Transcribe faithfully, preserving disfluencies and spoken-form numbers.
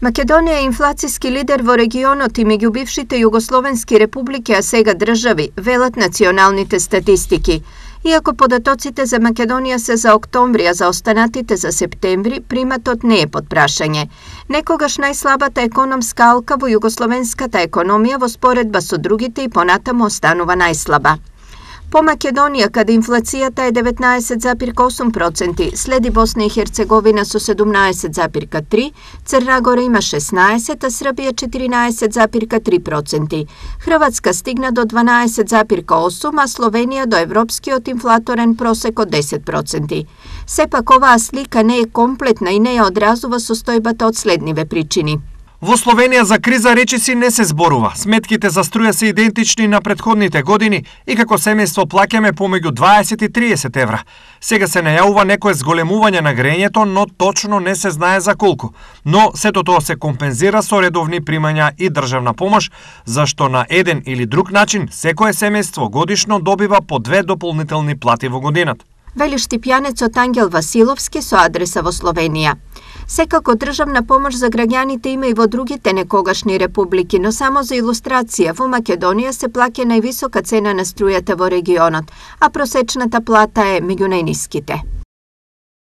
Македонија е инфлацијски лидер во регионот и меѓу бившите југословенски републики, а сега држави, велат националните статистики. Иако податоците за Македонија се за октомври, а за останатите за септември, приматот не е под прашање. Некогаш најслабата економска алка во југословенската економија во споредба со другите и понатаму останува најслаба. По Македонија, каде инфлацијата е деветнаесет зарез осум проценти, следи Босна и Херцеговина со седумнаесет зарез три, Црна Гора има шеснаесет, а Србија четиринаесет зарез три проценти. Хрватска стигна до дванаесет зарез осум, а Словенија до европскиот инфлаторен просек од десет проценти. Сепак оваа слика не е комплетна и не ја одразува состојбата од следниве причини. Во Словенија за криза речиси не се зборува. Сметките за струја се идентични на претходните години и како семејство плаќаме помеѓу дваесет и триесет евра. Сега се најавува некое зголемување на грењето, но точно не се знае за колку. Но сето тоа се компензира со редовни примања и државна помош, зашто на еден или друг начин секое семејство годишно добива по две дополнителни плати во годината. Вели штипјанецот Ангел Василовски со адреса во Словенија. Секако државна помош за граѓаните има и во другите некогашни републики, но само за илустрација, во Македонија се плаќа највисока цена на струјата во регионот, а просечната плата е меѓу најниските.